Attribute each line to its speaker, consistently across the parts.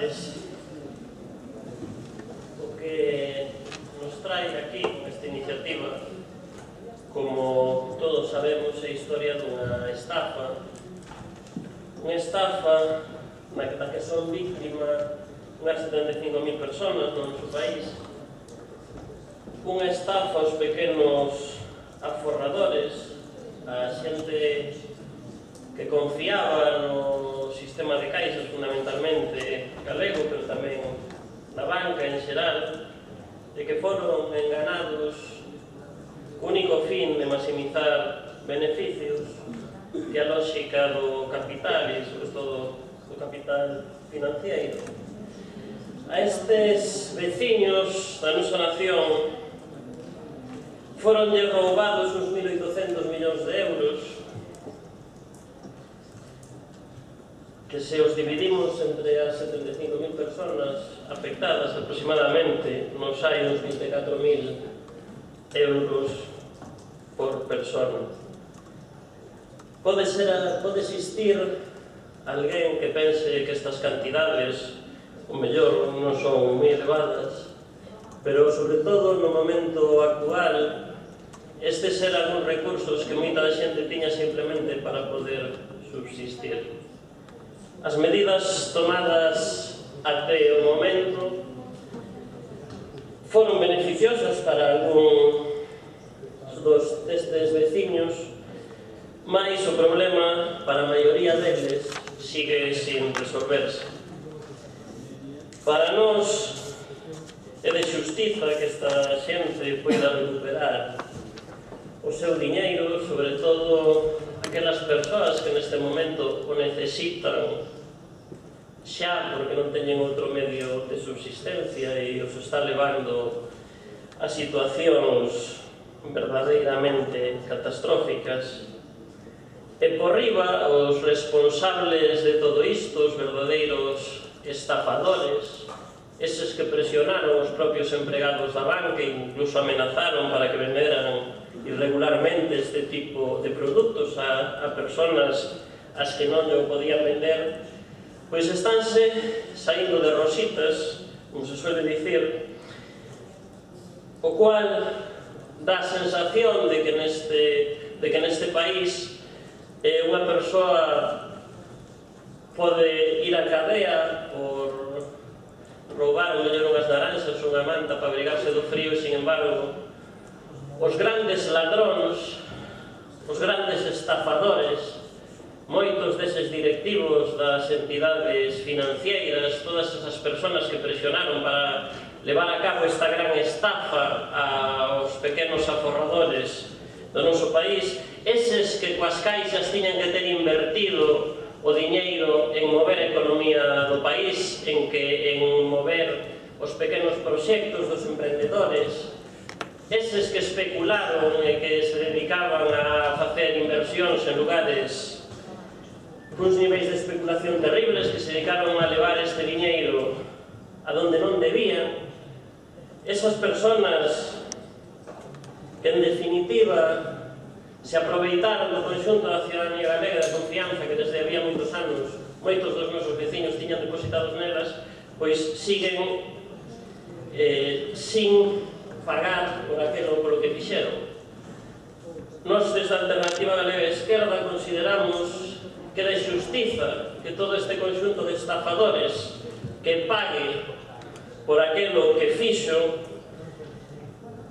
Speaker 1: González, o que nos trae aquí esta iniciativa, como todos sabemos, é a historia dunha estafa na que son víctima unhas 75.000 personas no noso país, unha estafa aos pequenos aforradores, a xente que confiaba no sistema de caixas fundamentalmente galego, pero tamén na banca en xeral, e que foron enganados co único fin de maximizar beneficios que a lógica do capital e, sobre todo, do capital financiero. A estes veciños da nosa nación foronlle roubados uns 1.800 millóns de euros que, se os dividimos entre as 75.000 personas afectadas aproximadamente, nos hai uns 24.000 euros por persona. Pode existir alguén que pense que estas cantidades, o mellor, non son moi elevadas, pero, sobre todo, no momento actual, estes eran uns recursos que moita xente tiña simplemente para poder subsistir. As medidas tomadas até o momento foron beneficiosas para algún destes veciños, mais o problema para a maioría deles sigue sin resolverse. Para nós é de xustiza que esta xente poida recuperar o seu diñeiro, sobre todo aquelas persoas que neste momento o necesitan xa porque non teñen outro medio de subsistencia e os está levando a situacións verdadeiramente catastróficas. E por riba, os responsables de todo isto, os verdadeiros estafadores, eses que presionaron os propios empregados da banca e incluso amenazaron para que venderan irregularmente este tipo de produtos a personas as que non o podían vender, pois estánse saindo de rositas, como se suele dicir, o cual dá a sensación de que neste país unha persoa pode ir á cadea por roubar o mellor unhas naranxas ou unha manta para abrigarse do frío e, sin embargo, os grandes ladróns, os grandes estafadores, moitos deses directivos das entidades financeiras, todas esas persoas que presionaron para levar a cabo esta gran estafa aos pequenos aforradores do noso país, eses que coas caixas tiñan que ter invertido o diñeiro en mover a economía do país, en mover os pequenos proxectos dos emprendedores, eses que especularon e que se dedicaban a facer inversións en lugares cuns niveis de especulación terribles, que se dedicaron a levar este diñeiro a donde non debían, esas persoas que, en definitiva, se aproveitaron do conxunto da ciudadanía galega, da confianza que desde había moitos anos moitos dos nosos veciños tiñan depositados nelas, pois siguen sin pagar por aquilo polo que fixeron. Nós, desde a Alternativa Galega Esquerda, consideramos que de xustiza que todo este conxunto de estafadores que pague por aquilo que fixo,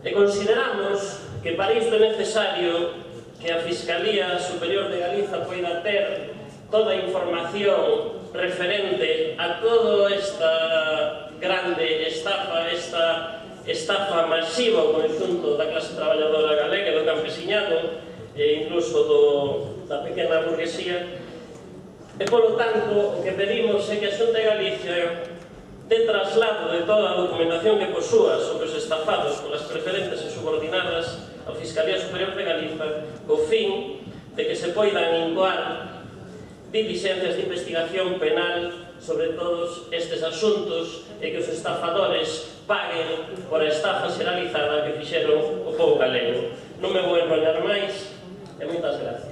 Speaker 1: e consideramos que para isto é necesario que a Fiscalía Superior de Galiza poida ter toda a información referente a toda esta grande estafa, esta estafa masiva ao conxunto da clase traballadora galega, do campesiñado e incluso da pequena burguesía. E, polo tanto, o que pedimos é que a Xunta de Galicia de traslado de toda a documentación que posúa sobre os estafados polas preferentes e subordinadas á Fiscalía Superior de Galiza, co fin de que se poidan incoar diligencias de investigación penal sobre todos estes asuntos e que os estafadores paguen por a estafa xeralizada que fixeron o povo galego. Non me vou enrollar máis e moitas gracias.